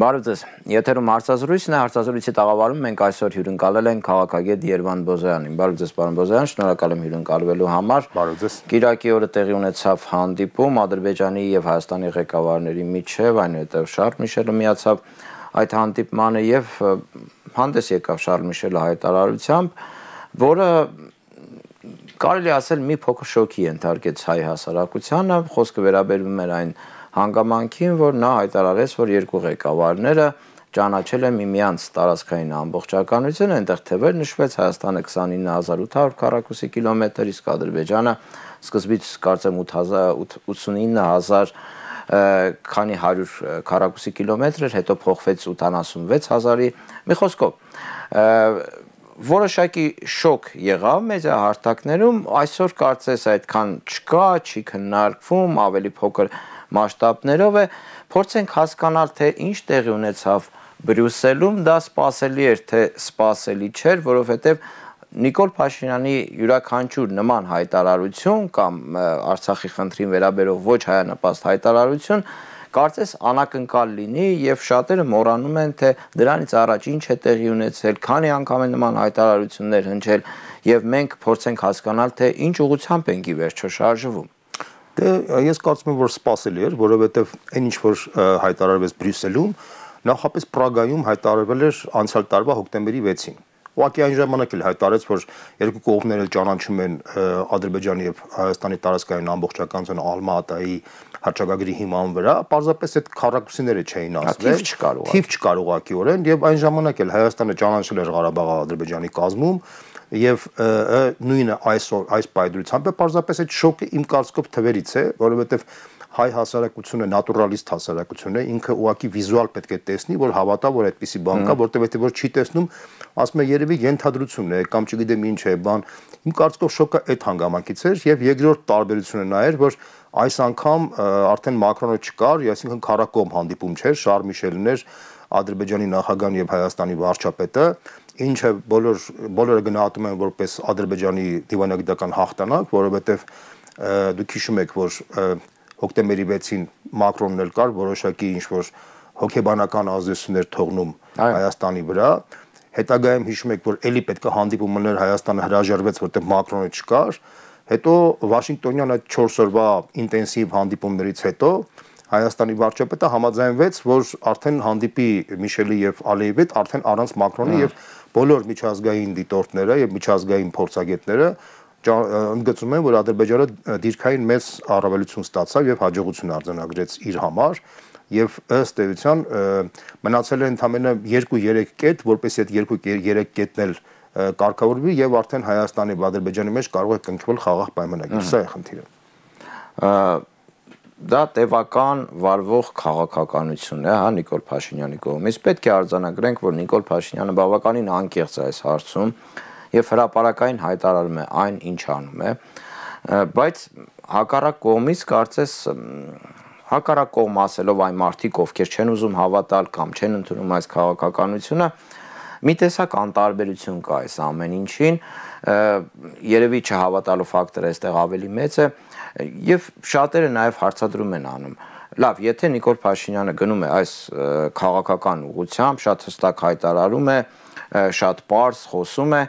Բարև ձեզ, եթերում հարցազրույցն է, հարցազրույցի տաղավարում մենք այսօր հյուրընկալել ենք քաղաքագետ Երվանդ Բոզոյանին։ Բարև ձեզ, պարոն Բոզոյան, շնորհակալ եմ հյուրընկալվելու համար։ Բարև ձեզ։ Կիրակի օրը տեղի ունեցավ հանդիպում Ադրբեջանի եւ Հայաստանի ղեկավարների միջև, այնուհետև Շարլ Միշելը միացավ այդ հանդիպմանը եւ հանդես եկավ Շարլ Միշելը հայտարարությամբ, որը կարելի ասել մի փոքր շոկի ենթարկեց հայ հասարակությանը, խոսքը վերաբերում էր այն հանգամանքին, որ նա հայտարարեց, որ երկու ղեկավարները ճանաչել են միմյանց տարածքային ամբողջականությունը, այնտեղ թվեր նշվեց Հայաստանը 29800 քառակուսի կիլոմետր, իսկ Ադրբեջանը սկզբից կարծեմ 89000 քանի 100 քառակուսի կիլոմետր, հետո փոխվեց 76000-ի, մի խոսքով որոշակի շոկ եղավ մեդիա հարթակներում, այսօր կարծես այդքան չկա, չի քննարկվում, ավելի փոքր մասշտաբներով է, փորձենք հասկանալ, թե ինչ տեղի ունեցավ Բրյուսելում, դա սպասելի էր, թե սպասելի չէր, որովհետև Նիկոլ Փաշինյանի յուրաքանչյուր նման հայտարարություն կամ Արցախի խնդրին վերաբերող ոչ հայանպաստ հայտարարություն կարծես անակնկալ լինի եւ շատերը մոռանում են, թե դրանից առաջ ինչ է տեղի ունեցել, քանի անգամ են նման հայտարարություններ հնչել եւ մենք փորձենք հասկանալ, թե ինչ ուղղությամբ ենք ի վերջո շարժվում։ Դե ես կարծում եմ, որ սպասելի էր, որովհետեւ այն ինչ որ հայտարարվեց Բրյուսելում, նախապես Պրագայում հայտարարվել էր անցյալ տարվա հոկտեմբերի 6-ին։ Ուղղակի այն ժամանակ էլ հայտարարեց, որ երկու կողմները ճանաչում են Ադրբեջանի եւ Հայաստանի տարածքային ամբողջականությունը Ալմատայի հռչակագրի հիման վրա, պարզապես այդ քառակուսիները չէին ասվել։ Թիվ չկար ուղղակիորեն եւ այն ժամանակ էլ Հայաստանը ճանաչել էր Ղարաբաղը Ադրբեջանի կազմում եւ նույնը այս պայդրությամբ է պարզապես այդ շոկը իմ կարծիքով թվերից է, որովհետեւ հայ հասարակությունը նատուրալիստ հասարակություն է, ինքը ուղղակի վիզուալ պետք է տեսնի, որ հավատա, որ այդպիսի բան կա, որտեղ որ չի տեսնում, ասում է երևի ենթադրություն է կամ չգիտեմ ինչ է, բան։ Իմ կարծիքով շոկը այդ հանգամանքից էր եւ երկրորդ տարբերությունը նա էր, որ այս անգամ արդեն Մակրոնը չկար, այսինքն քառակողմ հանդիպում չէր, Շարլ Միշելն էր, Ադրբեջանի նախագահն եւ Հայաստանի վարչապետը, ինչը բոլորը գնահատում են որպես Ադրբեջանի դիվանագիտական հաղթանակ, որովհետեւ դուք հիշում եք, որ հոկտեմբերի 6-ին Մակրոնն էլ կար, որոշակի ինչ-որ հոգեբանական ազդեցություններ թողնում Հայաստանի վրա։ Հետագայում հիշում եք, որ էլի պետք է հանդիպում լիներ, Հայաստանը հրաժարվեց, որտեղ Մակրոնը չկար։ Հետո Վաշինգտոնյան այդ 4 օրվա ինտենսիվ հանդիպումներից հետո Հայաստանի վարչապետը համաձայնվեց, որ արդեն հանդիպի Միշելի եւ Ալիևի հետ արդեն առանց Մակրոնի եւ բոլոր միջազգային դիտորդները եւ միջազգային փորձագետները ընդգծում են, որ Ադրբեջանը դիրքային մեծ առավելություն ստացավ եւ հաջողություն արձանագրեց իր համար եւ ըստ էության մնացել է ընդամենը 2-3 կետ, որպեսզի այդ 2-3 կետն էլ կարգավորվի եւ արդեն Հայաստանի եւ Ադրբեջանի մեջ կարող է կնքվել խաղաղ պայմանագիր։ Սա է խնդիրը։ Դա տևական վարվող քաղաքականություն է, հա, Նիկոլ Փաշինյանի կողմից։ Պետք է արձանագրենք, որ Նիկոլ Փաշինյանը բավականին անկեղծ է այս հարցում եւ հրապարակային հայտարարում է այն, ինչ անում է, բայց հակառակ կողմից կարծես հակառակ կողմ ասելով այն մարդիկ, ովքեր չեն ուզում հավատալ կամ չեն ընդունում այս քաղաքականությունը, մի տեսակ անտարբերություն կա այս ամեն ինչին, երևի չհավատալու ֆակտորը այստեղ ավելի մեծ է եւ շատերը նաեւ հարցադրում են անում։ Լավ, եթե Նիկոլ Փաշինյանը գնում է այս քաղաքական ուղղությամբ, շատ հստակ հայտարարում է, շատ պարզ խոսում է,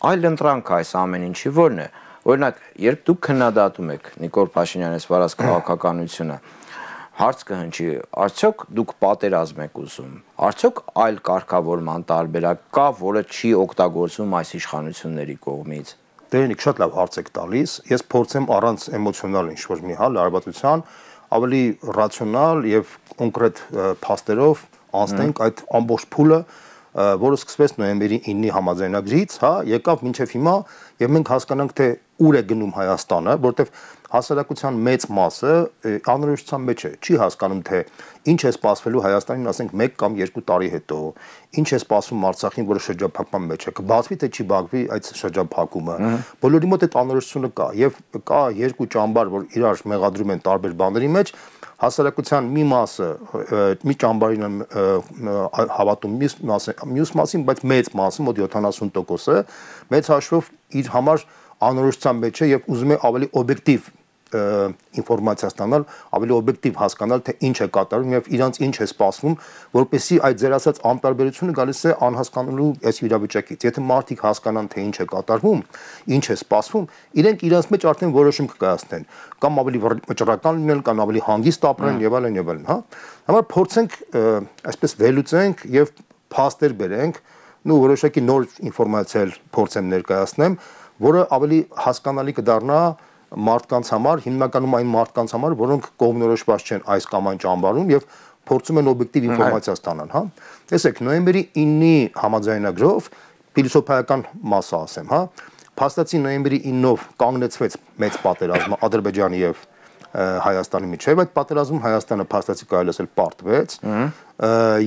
այլ ընտրանք այս ամեն ինչի որն է։ Օրինակ, երբ դուք քննադատում եք Նիկոլ Փաշինյանի վարած քաղաքականությունը, հարց կհնչի, արդյոք դուք պատերազմ եք ուզում, արդյոք այլ կարգավորման տարբերակ կա, որը չի օգտագործվում այս իշխանությունների կողմից։ Դերնիկ շատ լավ հարց եք տալիս, ես փորձեմ առանց էմոցիոնալ ինչ-որ մի հալ լարվածության ավելի ռացիոնալ եւ կոնկրետ փաստերով անցնենք այդ ամբողջ փուլը, որը սկսվեց նոյեմբերի 9-ի համաձայնագրից, հա, եկավ մինչև հիմա եւ մենք հասկանանք, թե ուր է գնում Հայաստանը, որտեվ հասարակության մեծ մասը անորոշության մեջ է, չի հասկանում, թե ինչ է սպասվելու Հայաստանին, ասենք 1 կամ 2 տարի հետո, ինչ է սպասվում Արցախին, որը շրջափակման մեջ է, կբացվի թե չի բացվի այդ շրջափակումը։ Բոլորի մոտ այդ անորոշությունը կա եւ կա երկու ճամբար, որ իրար մեղադրում են տարբեր բաների մեջ, հասարակության մի մասը մի ճամբարին հավատում, մյուս մասին, բայց մեծ մասը, մոտ 70%-ը մեծ հաշվով իր համար անորոշության մեջ է եւ ուզում է ավելի օբյեկտիվ ինֆորմացիա ստանալ, ավելի օբյեկտիվ հասկանալ, թե ինչ է կատարվում եւ իրանց ինչ է սպասվում, որպեսզի այդ ձեր ասած անտարբերությունը գալիս է անհասկանալու այս իրավիճակից։ Եթե մարդիկ հասկանան, թե ինչ է կատարվում, ինչ է սպասվում, իրենք իրենց մեջ արդեն որոշում կկայացնեն, կամ ավելի վճռական լինել, կամ ավելի հանգիստ ապրեն եւ այլն, հա։ Համար փորձենք այսպես վերլուծենք եւ փաստեր բերենք, ու որոշակի նոր ինֆորմացիա փորձեմ ներկայացնեմ, որը ավելի հասկանալի կդառնա մարդկանց համար, հիմնականում այն մարդկանց համար, որոնք կողմնորոշված չեն այս կամ այն ճամբարում եւ փորձում են օբյեկտիվ ինֆորմացիա ստանալ, հա։ Տեսեք, նոյեմբերի 9-ի համաձայնագրով փիլիսոփայական մասը ասեմ, հա, փաստացի նոյեմբերի 9-ով կանգնեցվեց մեծ պատերազմը Ադրբեջանի եւ Հայաստանի միջև, այդ պատերազմում Հայաստանը փաստացի կարելի ասել պարտվեց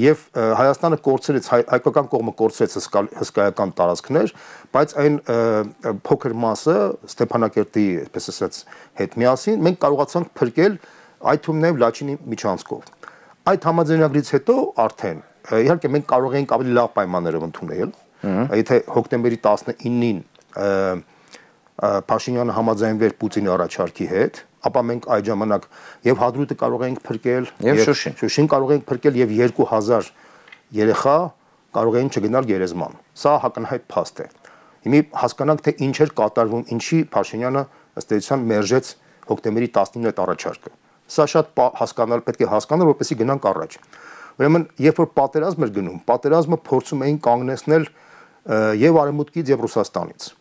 եւ Հայաստանը կորցրեց, հայկական կողմը կորցրեց հսկայական տարածքներ, բայց այն փոքր մասը Ստեփանակերտի, այսպես ասած, հետ միասին մենք կարողացանք փրկել, այդ թվում նաեւ Լաչինի միջանցքով։ Այդ համաձայնագրից հետո արդեն իհարկե մենք կարող ենք ավելի լավ պայմաններով ընդունել, եթե հոկտեմբերի 19-ին Փաշինյանը համաձայնվեր Պուտինի առաջարկի հետ, ապա մենք այդ ժամանակ եւ Հադրութը կարող ենք փրկել, եւ Շուշին կարող ենք փրկել եւ 2000 երեխա կարող էին չգնալ գերեզման։ Սա հակնհայտ փաստ է։ Հիմա հասկանանք, թե ինչ էր կատարվում, ինչի Փաշինյանը ըստ էության մերժեց հոկտեմբերի 19-ի այդ առաջարկը։ Սա շատ հասկանալ պետք է հասկանալ, որպեսզի գնանք առաջ։ Ուրեմն, երբ որ պատերազմ էր գնում, պատերազմը փորձում էին կանգնեցնել եւ Արևմուտքից եւ Ռուսաստանից։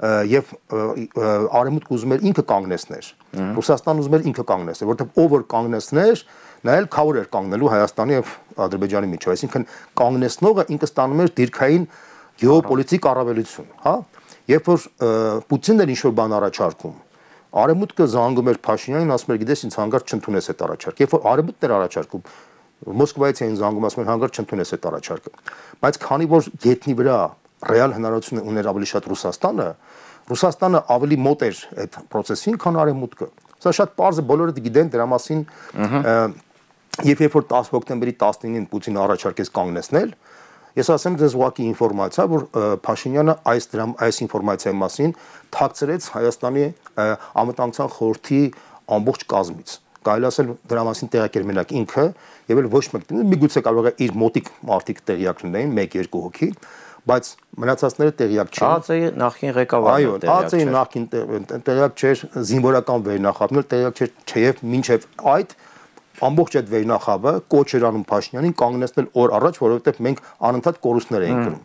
Եվ Արևմուտքը ուզում էր ինքը կանգնեցներ, Ռուսաստանը ուզում էր ինքը կանգնեցներ, որովհետև ով որ կանգնեցներ, նա էլ քավոր էր կանգնելու Հայաստանի եւ Ադրբեջանի միջեւ, այսինքն կանգնեցնողը ինքը ստանում էր դիրքային գեոպոլիտիկ առավելություն, հա։ Երբ որ Պուտինն էր ինչ-որ բան առաջարկում, Արևմուտքը զանգում էր Փաշինյանին, ասում էր, գիտես, ինձ հանգարց չընդունես այդ առաջարկը։ Երբ որ Արևմուտքն էր առաջարկում, Մոսկվայից էին զանգում, ասում են, հանգարց չընդունես այդ առաջարկը։ Բայց քանի որ գետնի վրա ռեալ հնարավորություն ուներ ավելի շատ Ռուսաստանը ավելի մոտ էր այդ process-ին, քան Արևմուտքը։ Սա շատ պարզ է, բոլորը գիտեն դրա մասին։ Եվ երբ որ 10 հոկտեմբերի 19-ին Պուտինը առաջարկեց կանգնեցնել, ես ասեմ ձեզ ուղղակի ինֆորմացիա, որ Փաշինյանը այս ինֆորմացիայի մասին թաքցրեց Հայաստանի անվտանգության խորհրդի ամբողջ կազմից։ Կարելի ասել դրա մասին տեղյակ էր մենակ ինքը, եւ էլ ոչ մեկ, միգուցե կարող է իր մոտիկ մարդիկ տեղյակ լինեին, 1-2 հոգի, բայց մնացածները տեղյակ չեն։ ԱԾ-ի նախին ղեկավարը տեղյակ չէր։ Այո, ԱԾ-ի նախին տեղյակ չէր, զինվորական վերնախավն տեղյակ չէր, չեև մինչև այդ ամբողջ այդ վերնախավը կոչ էր անում Փաշինյանին կանգնեցնել օր առաջ, որովհետև մենք անընդհատ կորուստներ էինք կրում։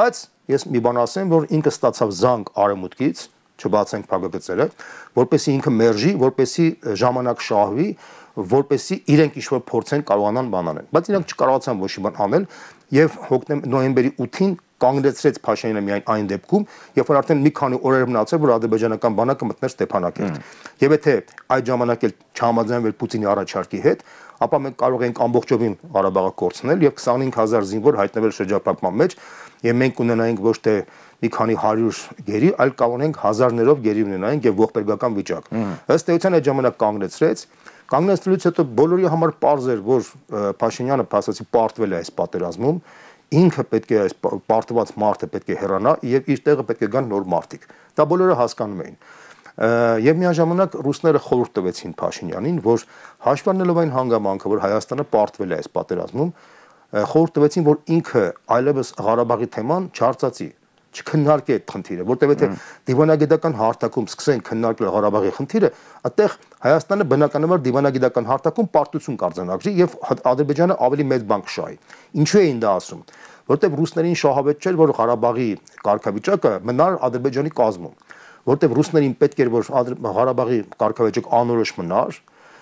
Բայց ես մի բան ասեմ, որ ինքը ստացավ զանգ Արևմուտքից, չբացենք փակագծերը, որպեսզի ինքը մերժի, որպեսզի ժամանակ շահվի, որպեսզի իրենք ինչ-որ փորձեն կարողանան բան անել։ Բայց իրենք չկարողացան ոչ մի բան անել եւ նոյեմբերի 8-ին կանգնեցրեց Փաշինյանը միայն այն դեպքում, երբ որ արդեն մի քանի օրեր մնացել, որ ադրբեջանական բանակը մտներ Ստեփանակերտ։ Եվ եթե այդ ժամանակ էլ չհամաձայնվեր Պուտինի առաջարկի հետ, ապա մենք կարող ենք ամբողջովին Ղարաբաղը կորցնել եւ 25000 զինվոր հայտնվել շրջափակման մեջ, եւ մենք ունենայինք ոչ թե մի քանի 100 գերի, այլ կողնենք հազարներով գերի ունենայինք եւ ողբերգական վիճակ։ Ըստ էության այդ ժամանակ կանգնեցրեց, կանգնեցնելուց հետո բոլորի համար պարզ էր, որ Փաշինյանը փաստացի պարտվել է այս պատերազմում, ինքը պետք է այս պարտված մարդը պետք է հեռանա եւ իր տեղը պետք է գան նոր մարդիկ։ Դա բոլորը հասկանում էին։ Եվ միաժամանակ ռուսները խորհուրդ տվեցին Փաշինյանին, որ հաշվառնելով այն հանգամանքը, որ Հայաստանը պարտվել է այս պատերազմում, խորհուրդ տվեցին, որ ինքը այլևս Ղարաբաղի թեման չարծացի, չքննարկի այդ խնդիրը, որտեղ եթե դիվանագիտական հարթակում սկսեն քննարկել Ղարաբաղի խնդիրը, այդտեղ Հայաստանը բնականաբար դիվանագիտական հարթակում պարտություն կարձանագրի եւ Ադրբեջանը ավելի մեծ բան կշահի։ Ինչու էին դա ասում, որտեղ ռուսներին շահավետ չէր, որ Ղարաբաղի կարգավիճակը մնար Ադրբեջանի կազմում, որտեղ ռուսներին պետք էր, որ Ղարաբաղի կարգավիճակը անորոշ մնար,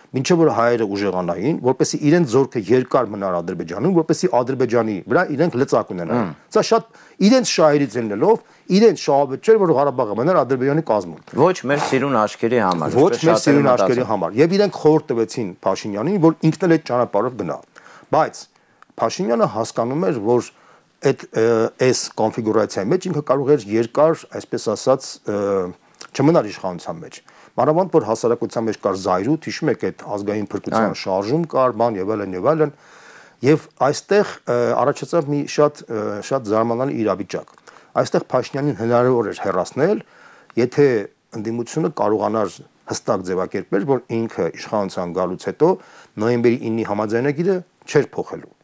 մինչև որ հայերը ուժեղանային, որպեսզի իրենց զորքը երկար մնար Ադրբեջանում, որպեսզի Ադրբեջանի վրա իրենք լծակ ունենան։ Սա շատ իրենց շահերից ելնելով, իրենց շահավետ չէր, որ Ղարաբաղը մնար Ադրբեջանի կազմում։ Ոչ մեր սիրուն աշկերի համար։ Ոչ մեր սիրուն աշկերի համար։ Եվ իրենք խորհուրդ տվեցին Փաշինյանին, որ ինքն էլ այդ ճանապարհով գնա։ Բայց Փաշինյանը հասկանում էր, որ այս կոնֆիգուրացիայի մեջ ինքը կարող էր երկար, այսպես ասած, չմնար իշխանության մեջ։ Մանավանդ որ հասարակության մեջ կար զայրույթ, հիշում եք այդ ազգային փրկության շարժում կար, բան եւ այլն, եւ այստեղ առաջացավ մի շատ զարմանալի իրավիճակ։ Այստեղ Փաշինյանին հնարավոր էր հեռացնել, եթե ընդդիմությունը կարողանար հստակ ձևակերպեր, որ ինքը իշխանության գալուց հետո նոյեմբերի 9-ի համաձայնագիրը չէր փոխելու։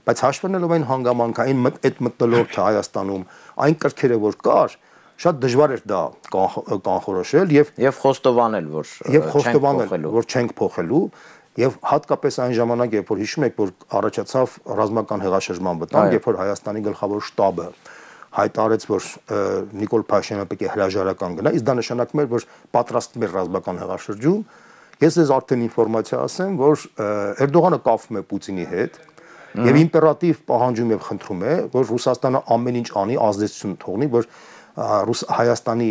Բայց հաշվառելով այն հանգամանքային այդ մտնոլորտը Հայաստանում, այն կրքերը, որ կար, շատ դժվար էր դա կանխորոշել եւ խոստովանել, որ չենք փոխելու, եւ հատկապես այն ժամանակ, երբ որ հիշում եք, որ առաջացավ ռազմական հեղաշրջման վտանգ, երբ որ Հայաստանի գլխավոր շտաբը հայտարարեց, որ Նիկոլ Փաշինյանը պետք է հրաժարական գնա, իսկ դա նշանակում էր, որ պատրաստվում էր ռազմական հեղաշրջում։ Ես ձեզ արդեն ինֆորմացիա ասեմ, որ Էրդողանը կապվում է Պուտինի հետ եւ իմպերատիվ պահանջում եւ խնդրում է, որ Ռուսաստանը ամեն ինչ անի, ազդեցություն թողնի, որ Հայաստանի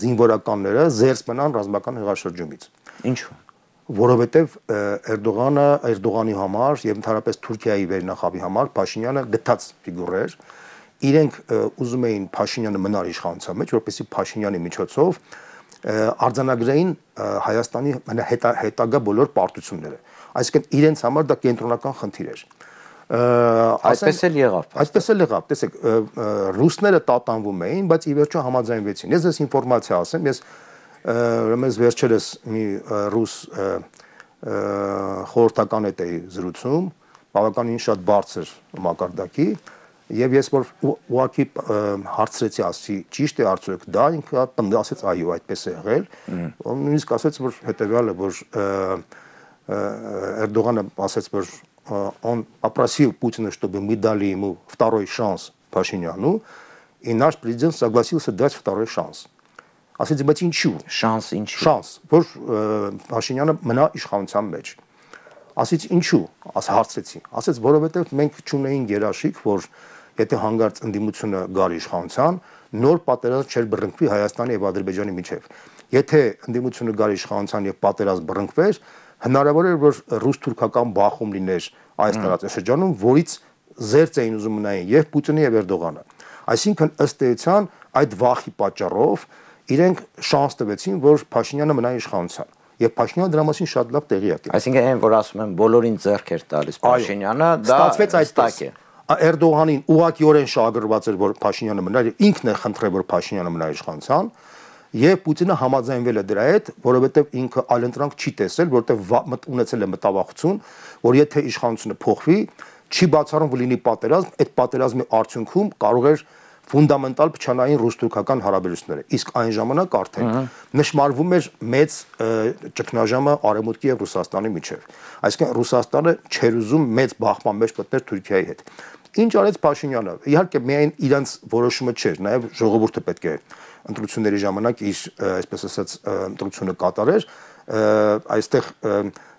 զինվորականները զերծ մնան ռազմական հեղաշրջումից։ Ինչու՞։ Որովհետեւ Էրդողանի համար եւ ընդհանրապես Թուրքիայի վերնախավի համար Փաշինյանը գտած ֆիգուր էր։ Իրենք ուզում էին Փաշինյանը մնար իշխանության մեջ, որպեսզի Փաշինյանի միջոցով արձանագրեին Հայաստանի հետագա բոլոր պարտությունները։ Այսինքն իրենց համար դա կենտրոնական խնդիր էր։ Այսպես էլ եղավ։ Այսպես էլ եղավ, տեսեք, ռուսները տատանվում էին, բայց ի վերջո համաձայնվեցին։ Ես ձեզ ինֆորմացիա ասեմ, ես ուրեմն վերջերս մի ռուս խորհրդական հետ էի զրուցում, բավականին շատ բարձր մակարդակի, եւ ես որ ուղղակի հարցրեցի, ասի ճիշտ է արդյոք դա, ինքը ասեց այո, այդպես է եղել, նույնիսկ ասեց, որ հետեւյալը, որ Էրդողանը ասեց, որ он попросил Путина, чтобы мы дали ему второй шанс Пашиняну, и наш президент согласился дать второй шанс. Ասեցի, բայց ինչու։ Շանս ինչու։ Շանս, որ Փաշինյանը մնա իշխանության մեջ։ Ասեցի, ինչու։ Հարցրեցի։ Ասեց, որովհետև մենք չունեինք երաշխիք, որ եթե հանգարց ընդդիմությունը գար իշխանության, նոր պատերազմ չէր բռնկվի Հայաստանի եւ Ադրբեջանի միջեւ։ Եթե ընդդիմությունը գար իշխանության եւ պատերազմ բռնկվեր, հնարավոր էր, որ ռուս-թուրքական բախում լիներ այս տարածաշրջանում, որից զերծ էին ուզում մնային եւ Պուտինը եւ Էրդողանը։ Այսինքն ըստ էության այդ վախի պատճառով իրենք շանս տվեցին, որ Փաշինյանը մնա իշխանության։ Եվ Փաշինյանը դրա մասին շատ լավ տեղյակ է։ Այսինքն այն, որ ասում են բոլորին ձեռք էր տալիս Փաշինյանը, դա ստացվեց այդպես է։ Էրդողանին ուղղակիորեն շահագրգռված էր, որ Փաշինյանը մնա, ինքն է խնդրել, որ Փաշինյանը մնա իշխանության, եւ Պուտինը համաձայնվել է դրա հետ, որովհետեւ ինքը այլընտրանք չի տեսել, որովհետեւ ունեցել է մտավախություն, որ եթե իշխանությունը փոխվի, չի բացառում որ լինի պատերազմ, այդ պատերազմի արդյունքում կարող էր ֆունդամենտալ փչանային ռուս-թուրքական հարաբերությունները, իսկ այն ժամանակ արդեն նշмарվում էր մեծ ճգնաժամը Արևմուտքի եւ Ռուսաստանի միջեւ։ Այսինքն Ռուսաստանը չէր ուզում մեծ բախման մեջ մտնել Թուրքիայի հետ։ Ինչ արեց Փաշինյանը։ Իհարկե միայն իրանց որոշումը չէր, նաեւ ժողովուրդը պետք է ընտրությունների ժամանակ իր, այսպես ասած, ընտրությունը կատարեր, այստեղ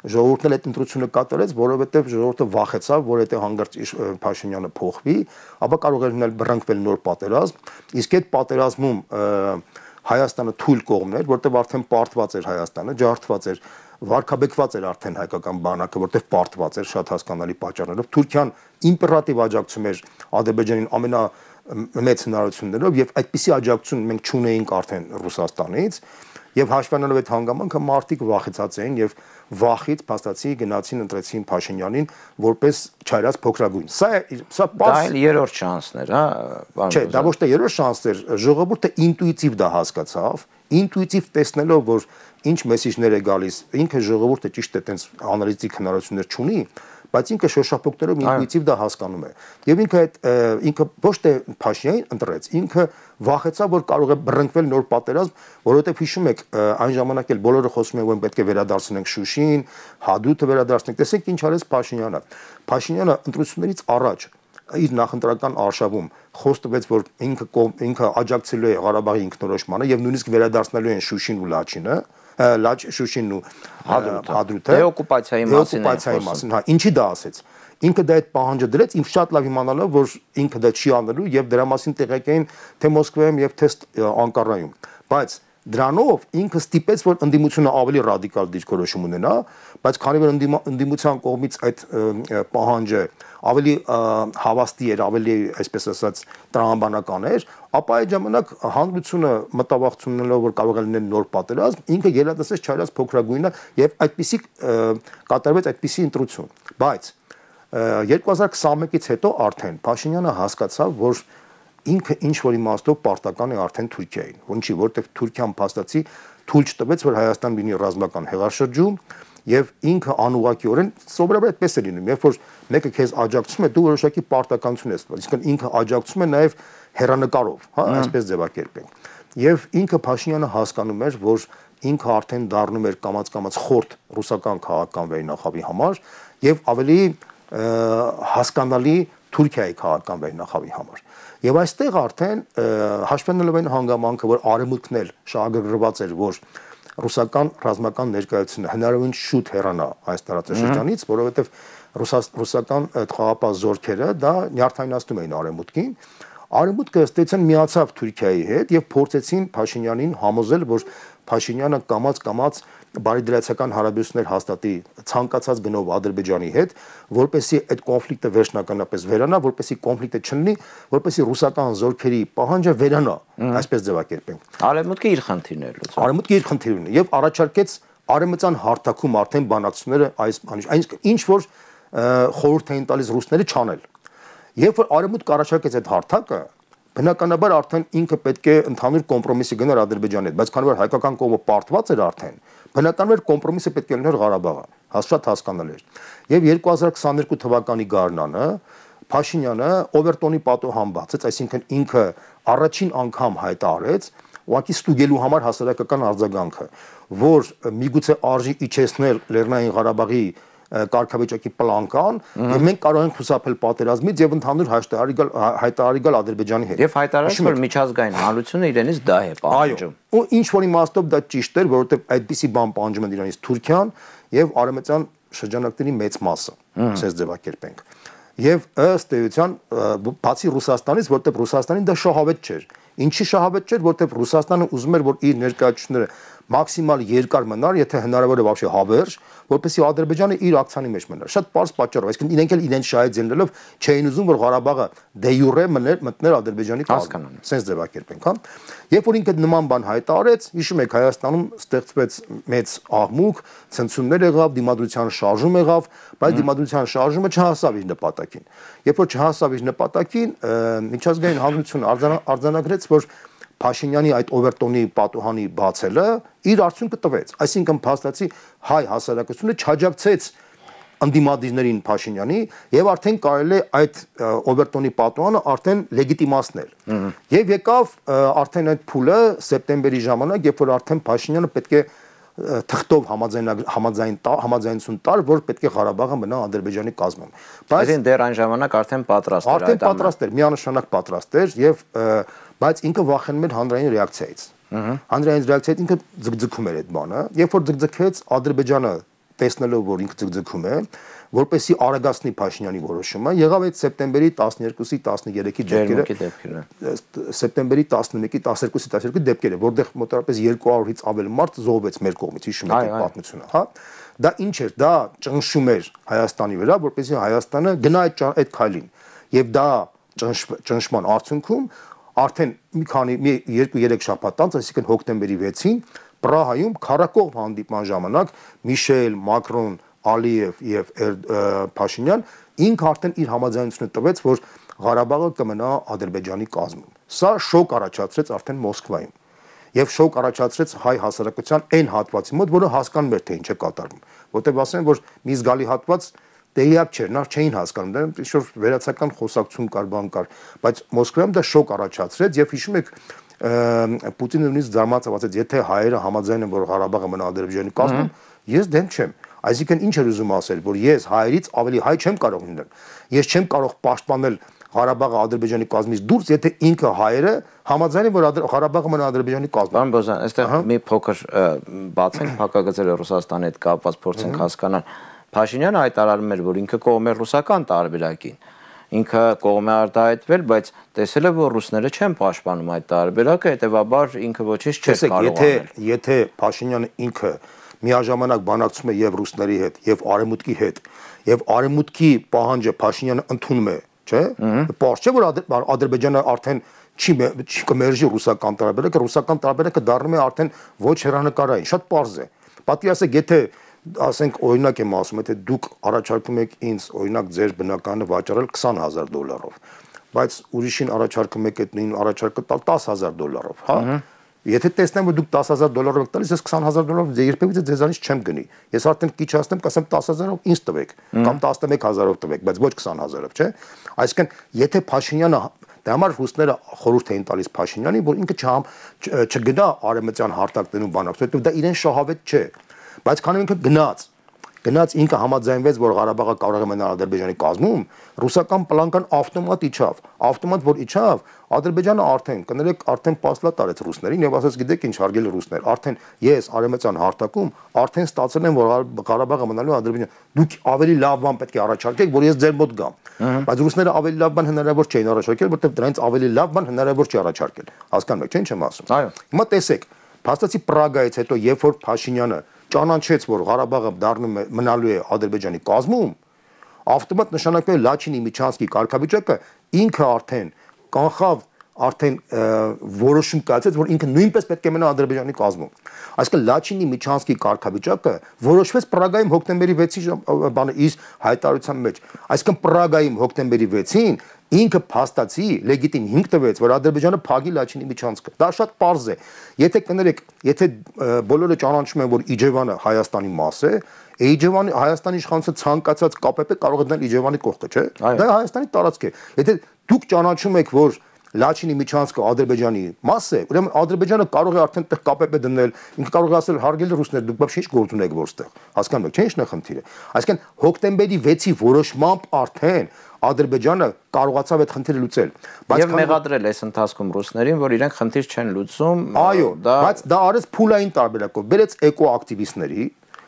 ժողովուրդն էլ այդ ընտրությունը կատարեց, որովհետև ժողովուրդը վախեցավ, որ եթե հանգարց Փաշինյանը փոխվի, ապա կարող էր լինել բռնկվել նոր պատերազմ, իսկ այդ պատերազմում Հայաստանը թույլ կողմն էր, որտեղ արդեն պարտված էր Հայաստանը, ջարդված էր, վարկաբեկված էր արդեն հայկական բանակը, որտեղ պարտված էր շատ հասկանալի պատճառներով։ Թուրքիան իմպերատիվ աջակցում էր Ադրբեջանին ամենամեծ հնարավորություններով եւ այդպիսի աջակցություն մենք չունեինք արդեն Ռուսաստանից եւ հաշվառելով այդ հանգամանքը մարդիկ վախեցած էին եւ վախից փաստացի գնացին ընտրեցին Փաշինյանին որպես չայրած փոքրագույն։ Սա դա երրորդ շանսն էր, հա, պարոն։ Չէ, դա ոչ թե երրորդ շանսն էր, ժողովուրդը ինտուիտիվ դա հասկացավ, ինտուիտիվ տեսնելով որ ինչ մեսիջներ է գալիս, ինքը ժողովուրդը ճիշտ է տենց անալիտիկ հնարավորություններ չունի, բայց ինքը շոշափոկներով ինտուիտիվ դա հասկանում է։ Եվ ինքը ոչ թե Փաշինյանին ընտրեց, ինքը վախեցավ, որ կարող է բռնկվել նոր պատերազմ, որովհետև հիշում եք, այն ժամանակ էլ բոլորը խոսում են, որ պետք է վերադարձնենք Շուշին, Հադրութը վերադարձնենք։ Տեսեք ինչ արեց Փաշինյանը։ Փաշինյանը ընտրություններից առաջ իր նախընտրական արշավում խոստվեց, որ ինքը աջակցելու է Ղարաբաղի ինքնորոշմանը եւ նույնիսկ վերադարձնելու են Շուշին ու Լաչինը, Շուշինն ու Հադրութը դեօկուպացիայի մասին, հա, ինչի դա ասեց։ Ինքը դա այդ պահանջը դրեց, ինքը շատ լավ իմանալով, որ ինքը դա չի անելու եւ դրա մասին տեղեկ էին թե Մոսկվայում եւ թե Անկարայում։ Բայց դրանով ինքը ստիպեց, որ ընդդիմությունը ավելի ռադիկալ դիրքորոշում ունենա, բայց քանի որ ընդդիմության կողմից այդ պահանջը ավելի հավաստի էր, ավելի, այսպես ասած, տրամաբանական էր, ապա այդ ժամանակ հանրությունը մտավախություններով որ կարող է լինել նոր պատերազմ, ինքը ելադասեց չայրած փոքրագույնը եւ այդպիսի կատարվեց այդպիսի ընտրություն։ Բայց 2021-ից հետո արդեն Փաշինյանը հասկացավ, որ ինքը ինչ որ իմաստով պարտական է արդեն Թուրքիային, որինչի որտեղ Թուրքիան փաստացի թույլ չտվեց, որ Հայաստան լինի ռազմական հեղաշրջում եւ ինքը անուղղակիորեն սովորաբար այդպես է լինում, երբ որ մեկը քեզ աջակցում է, դու որոշակի պարտականություն ես տվել, իսկ ինքը աջակցում է նաեւ հերանեկարով, հա, այսպես ձևակերպենք։ Եվ ինքը Փաշինյանը հասկանում էր, որ ինքը արդեն դառնում էր կամաց-կամաց խորտ ռուսական քաղաքական վերնախավի համար եւ ավելի հասկանալի Թուրքիայի քաղաքական վերնախավի համար։ Եվ այստեղ արդեն հաշվենալով այն հանգամանքը, որ արևմուտքն էլ շահագրգռված էր, որ ռուսական ռազմական ներկայությունը հնարավորին շուտ հեռանա այս տարածաշրջանից, որովհետև ռուսական խաղապահ զորքերը դա նյարդայնացնում էին արևմուտքին։ Արևմուտքը ըստ միացավ Թուրքիայի հետ եւ փորձեցին Փաշինյանին համոզել, որ Փաշինյանը կամաց-կամաց բարիդրացիական հարաբերություններ հաստատի ցանկացած գնով Ադրբեջանի հետ, որպեսզի այդ կոնֆլիկտը վերջնականապես վերանա, որպեսզի կոնֆլիկտը չլինի, որպեսզի ռուսական զորքերի պահանջը վերանա, այսպես ձևակերպենք։ Արևմուտքը իր խնդիրն էր լուծում։ Արևմուտքը իր խնդիրն ունի եւ առաջարկեց արևմտյան հարթակում արդեն բանակցությունները այս ինչ որ խորհուրդ էին տալիս ռուսները չանել։ Երբ որ արևմուտքը առաջարկեց այդ հարթակը, բնականաբար արդեն ինքը պետք է ընդհանուր կոմպրոմիսի գնար Ադրբեջանի հետ, բայց քանի որ հայկական կողմը պարտված էր արդեն, բնականաբար կոմպրոմիսը պետք է լիներ Ղարաբաղը, շատ հասկանալի էր։ Եվ 2022 թվականի գարնանը Փաշինյանը Օվերտոնի պատոհան բացեց, այսինքն ինքը առաջին անգամ հայտարարեց, ուղղակի ստուգելու համար հասարակական արձագանքը, որ միգուցե արժի իջեցնել Լեռնային Ղարաբաղի կարգավիճակի պլանկան եւ մենք կարող ենք խուսափել պատերազմից եւ ընդհանուր հայտարարի գալ Ադրբեջանի հետ։ Եվ հայտարարեց, որ միջազգային հանրությունը իրենից դա է պահանջում։ Այո, ու ինչ որ իմաստով դա ճիշտ էր, որովհետեւ այդպիսի բան պահանջում են իրանից Թուրքիան եւ արևմտյան շրջանակների մեծ մասը, ասես ձևակերպենք։ Եվ ըստ էության բացի Ռուսաստանից, որտեղ Ռուսաստանին դա շահավետ չէր։ Ինչի շահավետ չէր, որտեղ Ռուսաստանը ուզում էր, որ իր ներկայացուցիչները մաքսիմալ երկար մնար, եթե հնարավոր է вообще հավերժ, որպեսզի Ադրբեջանը իր ակցիանի մեջ մնար։ Շատ པարզ պատճառով, այսինքն իրենք էլ իրենց շահից ելնելով չէին ուզում, որ Ղարաբաղը դե յուրե մտներ Ադրբեջանի կազմում։ Սենց ձևակերպենք, հա։ Երբ որ ինքը նման բան հայտարարեց, հիշում եք Հայաստանում ստեղծվեց մեծ աղմուկ, ցնցումներ եղավ, դիմադրության շարժում եղավ, բայց դիմադրության շարժումը չհասավ իր նպատակին։ Երբ որ չհասավ իր նպատակին, միջազգային հանրությունը արձանագրեց, որ Փաշինյանի այդ Օվերտոնի պատոհանի բացելը իր արդյունքը տվեց, այսինքն փաստացի հայ հասարակությունը չաջակցեց ընդդիմադիրներին Փաշինյանի եւ արդեն կարելի է այդ Օվերտոնի պատոհանը արդեն լեգիտիմացնել։ Եվ եկավ արդեն այդ փուլը սեպտեմբերի ժամանակ, երբ որ արդեն Փաշինյանը պետք է թղթով համաձայնություն տար, որ պետք է Ղարաբաղը մնա Ադրբեջանի կազմում։ Բայց դեռ այն ժամանակ արդեն պատրաստ էր այդ ամենը։ Արդեն պատրաստ էր, միանշանակ պատրաստ էր եւ բայց ինքը վախենում էր հանրային ռեակցիայից։ Հանրային ռեակցիայից ինքը ձգձգում էր այդ բանը, երբ որ ձգձգեց Ադրբեջանը տեսնելով, որ ինքը ձգձգում է, որպեսի արագացնի Փաշինյանի որոշումը, եղավ այդ սեպտեմբերի 12-ի 13-ի դեպքերը, սեպտեմբերի 11-ի 12-ի դեպքերը, որտեղ մոտավորապես 200-ից ավել մարդ զոհվեց մեր կողմից, հիշում եք այդ պատմությունը, հա։ Դա ինչ էր, դա ճնշում էր Հայաստանի վրա, որպեսզի Հայաստանը գնա այդ քայլին։ Եվ դա ճնշման արդյունքում արդեն մի 2-3 շաբաթ անց, այսինքն հոկտեմբերի 6-ին Պրահայում քառակողմ հանդիպման ժամանակ Միշել, Մակրոն, Ալիև եւ Փաշինյան ինքը արդեն իր համաձայնությունը տվեց, որ Ղարաբաղը կմնա Ադրբեջանի կազմում։ Սա շոկ առաջացրեց արդեն Մոսկվայում։ Եւ շոկ առաջացրեց հայ հասարակության այն հատվածի մոտ, որը հասկանում էր, թե ինչ է կատարվում։ Որտեղ ասեն, որ մի զգալի հատված տեղյակ չէր, նա չէին հասկանում, դա ինչ-որ վերացական խոսակցություն կար, բան կար, բայց Մոսկվայում դա շոկ առաջացրեց եւ հիշում եք Պուտինը նույնիսկ զարմացավ, ասաց, եթե հայերը համաձայն են, որ Ղարաբաղը մնա Ադրբեջանի կազմում, ես դեմ չեմ։ Այսինքն ինչ էր ուզում ասել, որ ես հայերից ավելի հայ չեմ կարող լինել։ Ես չեմ կարող պաշտպանել Ղարաբաղը Ադրբեջանի կազմից դուրս, եթե ինքը հայերը համաձայն են, որ Ղարաբաղը մնա Ադրբեջանի կազմում։ Պարոն Բոզյան, այստեղ մի փոքր բացենք փակագծերը Ռուսաստանի հետ կապված փորձենք հասկանալ։ Փաշինյանը հայտարարում էր, որ ինքը կողմ է ռուսական տարբերակին։ Ինքը կողմ է արտահայտվել, բայց տեսել է, որ ռուսները չեն պաշտպանում այդ տարբերակը, հետեւաբար ինքը ոչինչ չէր կարող անել։ Եթե Փաշինյանը ինքը միաժամանակ բանակցում է եւ ռուսների հետ, եւ արևմուտքի հետ, եւ արևմուտքի պահանջը Փաշինյանը ընդունում է, չէ՞։ Պարզ չէ, որ Ադրբեջանը արդեն չի կմերժի ռուսական տարբերակը դառնում է արդեն ոչ հեռանկարային, շատ պարզ է։ Պատկերացեք, եթե ասենք օրինակ եմ ասում, եթե դուք առաջարկում եք ինձ օրինակ ձեր բնականը վաճառել $20,000, բայց ուրիշին առաջարկում եք այդ նույն առաջարկը տալ $10,000, հա։ Եթե տեսնեմ, որ դուք $10,000 եք տալիս, ես $20,000 երբևիցե ձեզանից չեմ գնի։ Ես արդեն քիչ ասեմ, կասեմ 10,000-ով ինձ տվեք, կամ 11,000-ով տվեք, բայց ոչ 20,000-ով, չէ։ Այսինքն, եթե Փաշինյանը դա համար ռուսները խորհուրդ էին տալիս Փաշինյանին, որ ինքը չգնա արևմտյան հարթակներում բանակցություն, որովհետև դա իրեն շահավետ չէ։ Բայց քանի ինքը գնաց ինքը համաձայնվեց, որ Ղարաբաղը կարող է մնալ Ադրբեջանի կազմում, ռուսական պլանկան ավտոմատ իջավ, որ իջավ, Ադրբեջանը արդեն պաստլատ արեց ռուսներին եւ ասաց, գիտեք ինչ, հարգելի ռուսներ, արդեն ես արևմտյան հարթակում արդեն ստացել եմ, որ Ղարաբաղը մնալու Ադրբեջան, դուք ավելի լավ բան պետք է առաջարկեք, որ ես ձեր մոտ գամ։ Բայց ռուսները ավելի լավ բան հնարավոր չէին առաջարկել, որովհետեւ դրանից ավելի լավ բան հնարավոր չի առաջարկել։ Հասկանում եք, չէ՞ ինչ եմ ասում։ Այո։ Հիմա տեսեք, փաստացի Պրագայից հետո, երբ որ Փաշինյանը ճանաչեց, որ Ղարաբաղը մնալու է Ադրբեջանի կազմում, ավտոմատ նշանակվել Լաչինի Միչանսկի կարգավիճակը ինքը կանխավ որոշում կայացեց, որ ինքը նույնպես պետք է մնա Ադրբեջանի կազմում։ Այսինքն Լաչինի Միչանսկի կարգավիճակը որոշվեց Պրագայում հոկտեմբերի 6-ի իր հայտարարության մեջ։ Այսինքն Պրագայում հոկտեմբերի 6-ին ինքը փաստացի լեգիտիմ հիմք տվեց, որ Ադրբեջանը փակի Լաչինի Միչանսկը։ Դա շատ պարզ է։ Եթե բոլորը ճանաչում են, որ Իջևանը Հայաստանի մաս է, Հայաստանի իշխանությունը ցանկացած ԿՊՊ կարող է դնել Իջևանի կողքը, չէ՞։ Դա Հայաստանի տարածք է։ Եթե դուք ճանաչում եք, որ Լաչինի Միչանսկը Ադրբեջանի մաս է, ուրեմն Ադրբեջանը կարող է արդեն տեղ ԿՊՊ դնել, ինքը կարող է ասել հարգելի ռուսներ, դուք բաց ինչ գործ ունեք որտեղ։ Հասկանում եք, չէ՞ ինչն է խնդիրը։ Այսինքն հոկտեմբերի 6-ի որոշմամբ արդեն Ադրբեջանը կարողացավ այդ խնդիրը լուծել։ Բայց մեղադրել այս ընթացքում ռուսներին, որ իրենք խնդիր չեն լուծում։ Այո, բայց դա արեց փուլային տարբերակով, բերեց էկոակտիվիստների,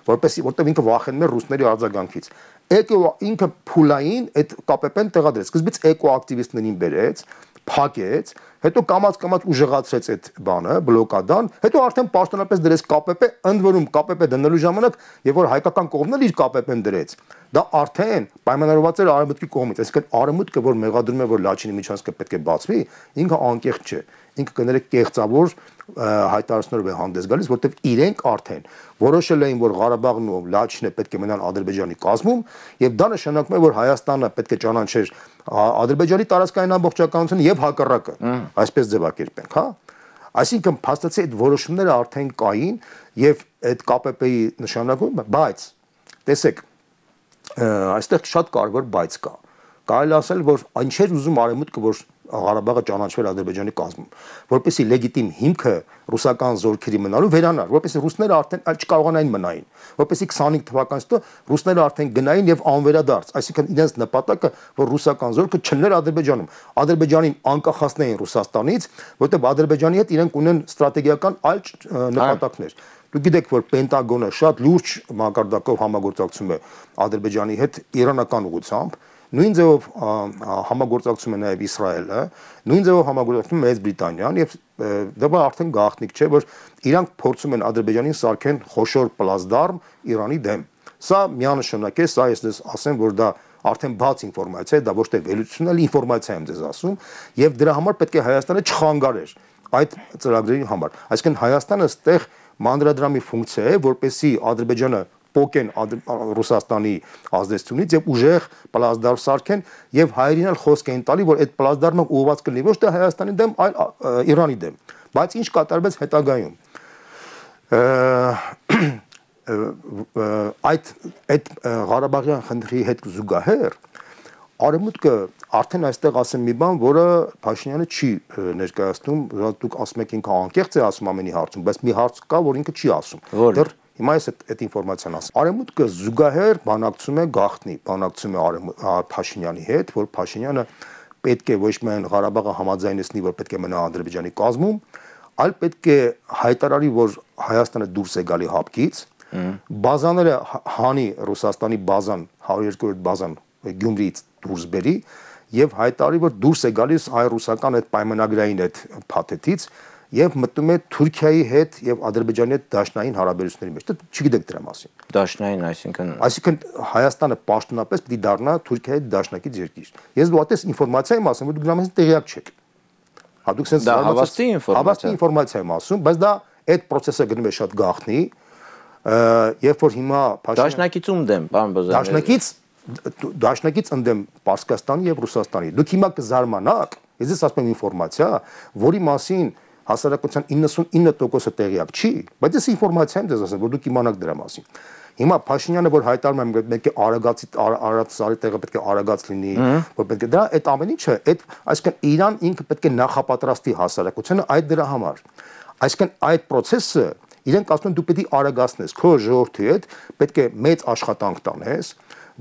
որտեղ ինքը վախենում էր ռուսների արձագանքից։ Ինքը փուլային այդ ԿՊՊ-ն տեղադրեց։ Սկզբից էկոակտիվիստներին բերեց, փակեց, հետո կամած ուժեղացրեց այդ բանը, բլոկադան, հետո արդեն պաշտոնապես դրեց ԿՊՊ, ընդ որում ԿՊՊ դնելու ժամանակ, եւ որ հայկական կողմն էլ իր ԿՊՊ-ն դրեց, դա արդեն պայմանավորված էր արևմուտքի կողմից, այսինքն արևմուտքը, որ մեղադրում է, որ Լաչինի Միչանսկը պետք է բացվի, ինքը անկեղծ չէ, ինքը կներեք կեղծավոր հայտարարություններով է հանդես գալիս, որտեղ իրենք արդեն որոշել էին, որ Ղարաբաղն ու Լաչինը պետք է մնան Ադրբեջանի կազմում, եւ դա նշանակում է, որ Հայաստանը պետք է ճանաչեր Ադրբեջանի տարածքային ամբողջականությունը եւ հակառակը, այսպես ձևակերպենք, հա։ Այսինքն փաստացի այդ որոշումները արդեն կային եւ այդ ԿՊՊ-ի նշանակում, բայց տեսեք, այստեղ շատ կարևոր բայց կա։ Կարելի ասել, որ ինչեր ուզում արևմուտքը, որ Ղարաբաղը ճանաչվել Ադրբեջանի կազմում, որպեսզի լեգիտիմ հիմքը ռուսական զորքերի մնալու վերանար, որպեսզի ռուսները արդեն այլ չկարողանային մնային, որպեսզի 25 թվականից հետո ռուսները արդեն գնային եւ անվերադարձ, այսինքն իրենց նպատակը, որ ռուսական զորքը չլներ Ադրբեջանում, Ադրբեջանին անկախացնեին Ռուսաստանից, որտեղ Ադրբեջանի հետ իրենք ունեն ստրատեգիական այլ նպատակներ։ Դուք գիտեք, որ Պենտագոնը շատ լուրջ մակարդակով համագործակցում է Ադրբեջանի հետ իրանական ուղղությամբ, նույն ձևով համագործակցում է նաև Իսրայելը, նույն ձևով համագործակցում է Մեծ Բրիտանիան եւ դա արդեն գաղտնիք չէ, որ իրանք փորձում են Ադրբեջանին սարքեն խոշոր պլազդարմ Իրանի դեմ։ Սա միանշանակ է, սա ես ասեմ, որ դա արդեն բաց ինֆորմացիա է, դա ոչ թե վերլուծություն, այլ ինֆորմացիա եմ ձեզ ասում, եւ դրա համար պետք է Հայաստանը չխանգարեր այդ ծրագրերի համար։ Այսինքն Հայաստանը այստեղ մանրադրամի ֆունկցիա է, որպեսզի Ադրբեջանը փոկեն Ռուսաստանի ազդեցությունից եւ ուժեղ պլազդարմ սարքեն եւ հայերին էլ խոսք են տալի, որ այդ պլազդարմը ուղղված կլինի ոչ թե Հայաստանի դեմ, այլ Իրանի դեմ։ Բայց ինչ կատարվեց հետագայում։ Այդ Ղարաբաղյան խնդրի հետ զուգահեռ Արևմուտքը արդեն այստեղ ասեմ մի բան, որը Փաշինյանը չի ներկայացնում, դուք ասում եք ինքը անկեղծ է ասում ամենի հարցում, բայց մի հարց կա, որ ինքը չի ասում։ Դեռ հիմա ես այդ ինֆորմացիան ասում։ Արևմուտքը զուգահեռ բանակցում է գաղտնի, բանակցում է Փաշինյանի հետ, որ Փաշինյանը պետք է ոչ միայն Ղարաբաղը համաձայնեցնի, որ պետք է մնա Ադրբեջանի կազմում, այլ պետք է հայտարարի, որ Հայաստանը դուրս է գալի հապկից, բազաները հանի Ռուսաստանի բազան, 102-րդ բազան Գյումրիից դուրս բերի եւ հայտարարի, որ դուրս է գալիս հայ-ռուսական այդ պայմանագրային այդ փաթեթից եւ մտնում է Թուրքիայի հետ եւ Ադրբեջանի հետ դաշնային հարաբերությունների մեջ։ Դե չգիտեք դրա մասին։ Դաշնային, այսինքն Հայաստանը պաշտոնապես պիտի դառնա Թուրքիայի հետ դաշնակից երկիր։ Ես դու այդպես ինֆորմացիա եմ ասում, որ դուք դրա մասին տեղյակ չեք։ Հա դուք sense հավաստի ինֆորմացիա եմ ասում, բայց դա այդ process-ը գնում է շատ գաղտնի, երբ որ հիմա Դաշնակիցում դեմ, պարոն Բոզարյան։ Դաշնակից դաշնակից ընդդեմ Պարսկաստանի եւ Ռուսաստանի։ Դուք հիմա կզարմանաք, ես ասում եմ ինֆորմացիա, որի մասին հասարակության 99%-ը տեղյակ չի, բայց այս ինֆորմացիա եմ դες ասում, որ դուք իմանաք դրա մասին։ Հիմա Փաշինյանը որ հայտարարում է պետք է արագացի տեղը պետք է արագած լինի, որ պետք է դա այդ ամեն ինչը, այդ այսինքն Իրան ինքը պետք է նախապատրաստի հասարակությանը այդ դրա համար։ Այսինքն այդ process-ը իրենք ասում են դու պետք է արագացնես քո ժողովրդի հետ, պետք է մեծ աշխատանք տանես,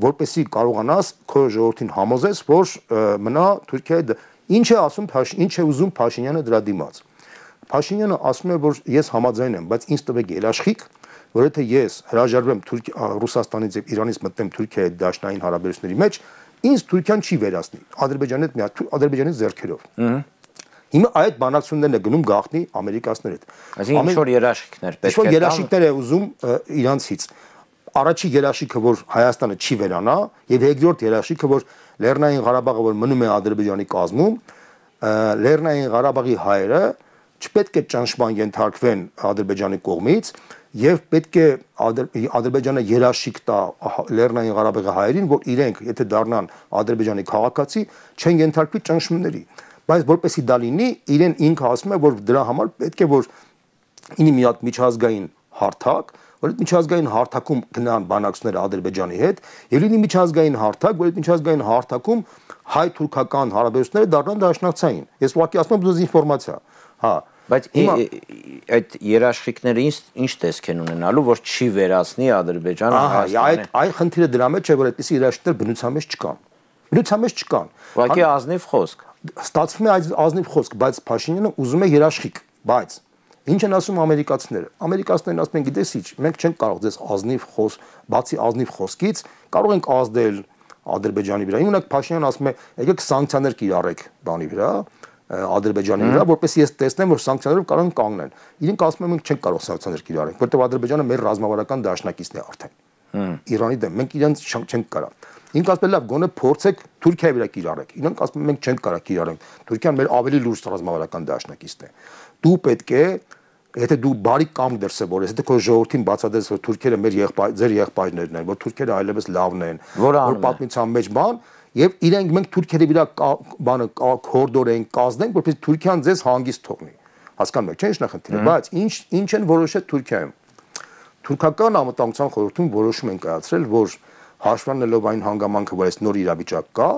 որպեսզի կարողանաս քո ժողովրդին համոզես, որ մնա Թուրքիայի ինչ է ասում, ինչ է ուզում Փաշինյանը դրա դիմաց։ Փաշինյանը ասում է, որ ես համաձայն եմ, բայց ինձ տվեք երաշխիք, որ եթե ես հրաժարվեմ Ռուսաստանից եւ Իրանից մտնեմ Թուրքիայի դաշնային հարաբերությունների մեջ, ինձ Թուրքիան չի վերացնի Ադրբեջանի ձեռքերով։ Հիմա այդ բանակցություններն է գնում գաղտնի ամերիկացիների հետ։ Այսինքն ինչ-որ երաշխիքներ պետք է տան։ Ինչ-որ երաշխիքներ է ուզում իրանցից։ Առաջի երաշխիքը, որ Հայաստանը չի վերանա, եւ երկրորդ երաշխիքը, որ Լեռնային Ղարաբաղը, որ մնում է Ադրբեջանի կազմում, Լեռնային Ղարաբաղի հայերը չպետք է ճնշման ենթարկվեն Ադրբեջանի կողմից եւ պետք է Ադրբեջանը երաշխիք տա Լեռնային Ղարաբաղի հայերին, որ իրենք եթե դառնան Ադրբեջանի քաղաքացի, չեն ենթարկվի ճնշումների։ Բայց որպեսի դա լինի, իրեն ինքը ասում է, որ դրա համար պետք է որ ինի մի հատ միջազգային հարթակ, որ այդ միջազգային հարթակում գնան բանակցությունները Ադրբեջանի հետ, եւ լինի միջազգային հարթակ, որ այդ միջազգային հարթակում հայ-թուրքական հարաբերությունները դառնան դաշնակցային։ Ես ուղղակի ասում եմ դուզ ինֆորմացիա։ Հա, բայց այդ երաշխիքները ինչ տեսք են ունենալու, որ չի վերացնի Ադրբեջանը Հայաստանը։ Այդ խնդիրը դրա մեջ է, որ այդպիսի երաշխիքներ բնության մեջ չկան։ Բնության մեջ չկան։ Ուղղակի ազնիվ խոսք։ Ստացվում է այդ ազնիվ խոսք, բայց Փաշինյանը ուզում է երաշխիք, բայց ինչ են ասում ամերիկացիները։ Ամերիկացիներն ասում են, գիտես ինչ, մենք չենք կարող ձեզ ազնիվ բացի ազնիվ խոսքից, կարող ենք ազդել Ադրբեջանի վրա։ Իմանաք Փաշինյանը ասում է, եկեք սանկցիաներ կիրառեք բանի վրա, Ադրբեջանի վրա, որպեսզի ես տեսնեմ, որ սանկցիաներով կարող են կանգնել։ Իրենք ասում են, մենք չենք կարող սանկցիաներ կիրառենք, որտեղ Ադրբեջանը մեր ռազմավարական դաշնակիցն է արդեն։ Իրանի դեմ մենք իրենց չենք կարող։ Ինք ասում է, լավ, գոնե փորձեք Թուրքիայի վրա կիրառեք։ Իրենք ասում են, մենք չենք կարող կիրառենք։ Թուրքիան մեր ավելի լուրջ ռազմավարական դաշնակիցն է։ Դու պետք է, եթե դու բարի կամք դրսևորես, եթե քո ժողովրդին բացատրես, որ թուրքերը ձեր եղբայրներն են, որ թուրքերը այլևս լավն են, որ պատմության մեջ բան, եւ իրենք մենք թուրքերի վրա բանը կորդորենք, կազդենք, որպեսզի Թուրքիան ձեզ հանգիստ թողնի։ Հասկանում եք, չէ՞ ինչ նախնդիրը, բայց ինչ են որոշել Թուրքիայում։ Թուրքական անվտանգության խորհրդում որոշում են կայացրել, որ հաշվառելով այն հանգամանքը, որ այս նոր իրավիճակ կա,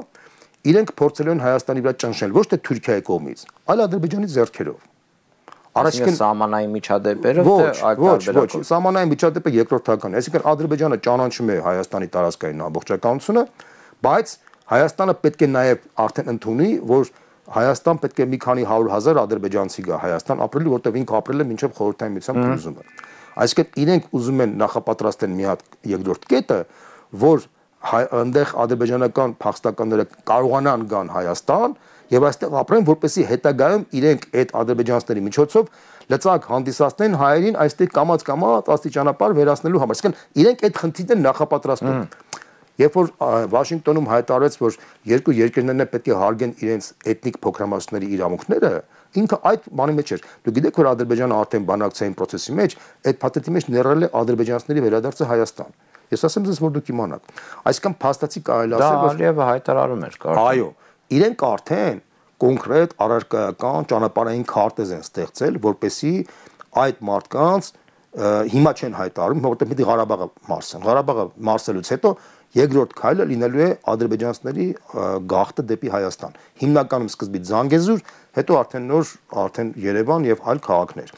իրենք փորձել են Հայաստանի վրա ճնշել ոչ թե Թուրքիայի կողմից, այլ Ադրբեջանի ձեռքերով։ Առաջին սահմանային միջադեպերը ոչ, սահմանային միջադեպը երկրորդական է, այսինքն Ադրբեջանը ճանաչում է Հայաստանի տարածքային ամբողջականությունը, բայց Հայաստանը պետք է նաև արդեն ընդունի, որ Հայաստան պետք է մի քանի 100,000 ադրբեջանցի գա Հայաստան ապրելու, որտեղ ինքը ապրել է մինչև խորհրդային միության փլուզումը։ Այսինքն իրենք ուզում են նախապատրաստեն մի հատ երկրորդ կետը, որ այնտեղ ադրբեջանական փախստականները կարողանան գան Հայաստան եւ այստեղ ապրեն, որպեսզի հետագայում իրենք այդ ադրբեջանցիների միջոցով լծակ հանդիսացնեն հայերին այստեղ կամած աստիճանաբար վերացնելու համար։ Այսինքն իրենք այդ խնդիրն նախապատրաստում։ Երբ որ Վաշինգտոնում հայտարարեց, որ երկու երկրներն պետք է հարգեն իրենց էթնիկ փոքրամասնությունների իրավունքները, ինքը այդ բանի մեջ էր։ Դու գիտեք, որ Ադրբեջանը արդեն բանակցային process-ի մեջ այդ փաթեթի մեջ ներառել է ադրբեջանցիների վերադարձը Հայաստան։ Ես ասեմ ձեզ, որ դուք իմանաք։ Այսինքն փաստացի կարելի ասել, որ Ալիևը հայտարարում էր կարծեմ։ Այո, իրենք արդեն կոնկրետ առարկայական ճանապարհային քարտեզ են ստեղծել, որպեսզի այդ մարդկանց հիմա չեն հայտարարում, որտեղ պիտի Ղարաբաղը մարսեն։ Ղարաբաղը մարսելուց հետո երկրորդ քայլը լինելու է ադրբեջանցիների գաղթը դեպի Հայաստան։ Հիմնականում սկզբից Զանգեզուր, հետո արդեն Երևան եւ այլ քաղաքներ։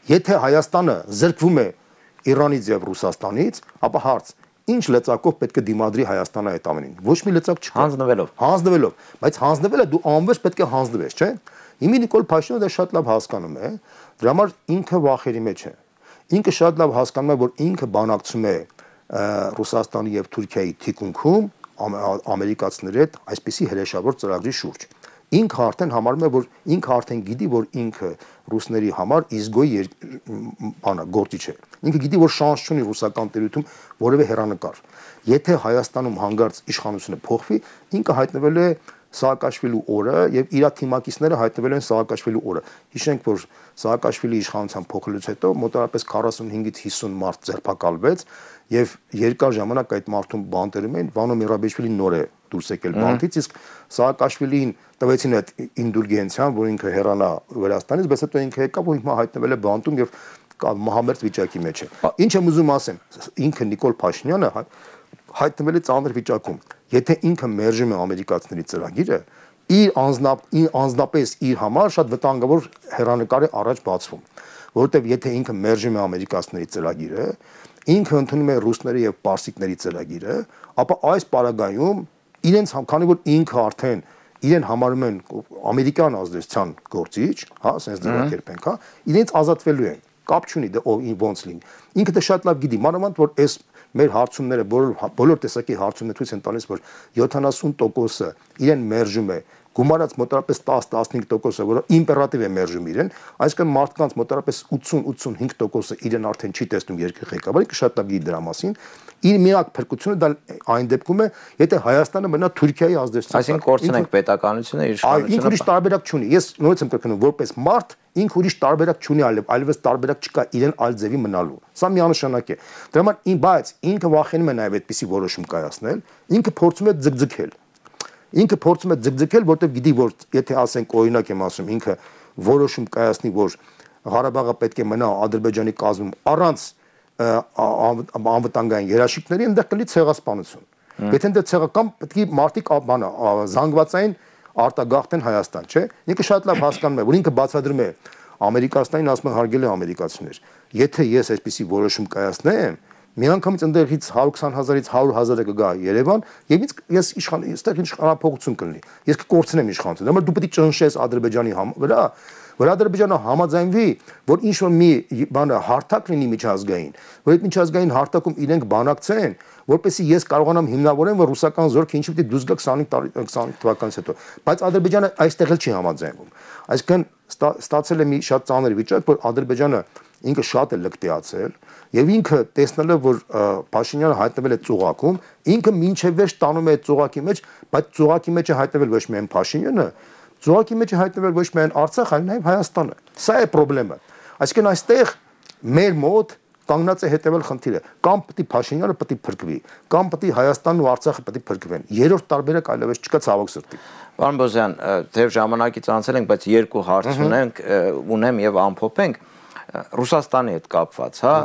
Եթե Հայաստանը զրկվում է Իրանից եւ Ռուսաստանից, ապա հարց, ինչ լծակով պետք է դիմադրի Հայաստանը այդ ամենին։ Ոչ մի լծակ չկա։ Հանձնվելով, բայց հանձնվելը դու անվերջ պետք է հանձնվես, չէ՞։ Հիմա Նիկոլ Փաշինյանը դա շատ լավ հասկանում է, դրա համար ինքը վախերի մեջ է։ Ինքը շատ լավ հասկանում է, որ ինքը բանակցում է Ռուսաստանի եւ Թուրքիայի թիկունքում ամերիկացիների հետ այսպիսի հրեշավոր ծրագրի շուրջ։ Ինքը արդեն համարում է, որ ինքը արդեն գիտի, որ ինքը ռուսների համար իզգոյ գործիչ է։ Ինքը գիտի, որ շանս չունի ռուսական տերությունում որևէ հերանեկար։ Եթե Հայաստանում հանգարց իշխանությունը փոխվի, ինքը հայտնվել է Սահակաշվիլու օրը եւ իր թիմակիցները հայտնվել են Սահակաշվիլու օրը։ Հիշենք, որ Սահակաշվիլի իշխանության փոխելուց հետո մոտավորապես 45-ից 50 մարդ ձերբակալվեց եւ երկար ժամանակ այդ մարդուն բանտերում էին, Վանո Միրաբեշվիլին նոր է դուրս եկել բանտից, իսկ Սահակաշվիլին տվեցին այդ ինդուլգենցիան, որ ինքը հեռանա Վրաստանից, բայց հետո ինքը եկավ ու հիմա հայտնվել է բանտում եւ մահամերձ վիճակի մեջ է։ Ինչ եմ ուզում ասեմ, ինքը Նիկոլ Փաշինյանը հայտնվել է ծանր վիճակում։ Եթե ինքը մերժում է ամերիկացիների ծրագիրը, իր անձնապես իր համար շատ վտանգավոր հեռանկար է առաջ բացվում, որովհետև եթե ինքը մերժում է ամերիկացիների ծրագիրը, ինքը ընդունում է ռուսների եւ պարսիկների ծրագիրը, ապա այս պարագայում իրենց քանի որ ինքը արդեն իրեն համարում են ամերիկյան ազդեցության գործիչ, հա, ասենց ձևակերպենք, հա, իրենց ազատվելու են, կապ չունի դա ոնց լինի։ Ինքը դա շատ լավ գիտի, մանավանդ որ այս մեր հարցումները բոլոր տեսակի հարցումները ցույց են տալիս, որ 70%-ը իրեն մերժում է, գումարած մոտավորապես 10-15%-ը, որը իմպերատիվ է մերժում իրեն, այսինքն մարդկանց մոտավորապես 80-85%-ը իրեն արդեն չի տեսնում երկրի ղեկավարը, ինքը շատ լավ գիտի դրա մասին։ Իր միակ փրկությունը դա այն դեպքում է, եթե Հայաստանը մնա Թուրքիայի ազդեցության։ Այսինքն կորցնենք պետականությունը, իշխանությունը։ Ինքը ուրիշ տարբերակ չունի։ Ես նորից եմ կրկնում, որպես մարդ ինքը ուրիշ տարբերակ չունի, այլևս տարբերակ չկա իրեն այլ ձևի մնալու։ Սա միանշանակ է։ Դրա համար բայց ինքը վախենում է նաև այդպիսի որոշում կայացնել, ինքը փորձում է ձգձգել։ Ինքը փորձում է ձգձգել, որտեղ գիտի, որ եթե ասենք օրինակ եմ ասում, ինքը որոշում կայացնի, որ Ղարաբաղը պետք է մնա Ադրբեջանի կազմում առանց անվտանգային երաշխիքների, այնտեղ կլինի ցեղասպանություն։ Եթե այնտեղ ցեղական պետք է մարդիկ զանգվածային արտագաղթեն Հայաստան, չէ՞։ Ինքը շատ լավ հասկանում է, որ ինքը բացադրում է ամերիկացիներին, ասում է հարգելի ամերիկացիներ, եթե ես այսպիսի որոշում կայացնեմ, միանգամից ընդեղից 120,000-ից 100,000-ը կգա Երևան եւ ես այստեղ իշխանապողություն կլինի։ Ես կկորցնեմ իշխանությունը։ Դե դու պետք է ճնշես Ադրբեջանի վրա, որ Ադրբեջանը համաձայնվի, որ ինչ որ մի բանը հարթակ լինի միջազգային, որ այդ միջազգային հարթակում իրենք բանակցեն, որպեսզի ես կարողանամ հիմնավորեմ, որ ռուսական զորքը ինչի պետք է դուրս գա 25 թվականից հետո։ Բայց Ադրբեջանը այստեղ էլ չի համաձայնվում։ Այսինքն ստացել է մի շատ ծանր վիճակ, որ Ադրբեջանը ինքը շատ է լկտիացել եւ ինքը տեսնելով որ Փաշինյանը հայտնվել է ծուղակում, ինքը մինչև վերջ տանում է այդ ծուղակի մեջ, բայց ծուղակի մեջ է հայտնվել ոչ միայն Փաշինյանը, ծուղակի մեջ է հայտնվել ոչ միայն Արցախը, այլ նաեւ Հայաստանը։ Սա է խնդրեմը։ Այսինքն այստեղ մեր մոտ կանգնած է հետևել խնդիրը, կամ պետք է Փաշինյանը պետք է փրկվի, կամ պետք է Հայաստանն ու Արցախը պետք է փրկվեն։ Երրորդ տարբերակ այլևս չկա, ցավոք սրտի։ Պարոն Բոզյան, դեռ ժամանակից անցել ենք, բայց երկու հարց ունեմ եւ ամփոփենք։ Ռուսաստանի հետ կապված, հա,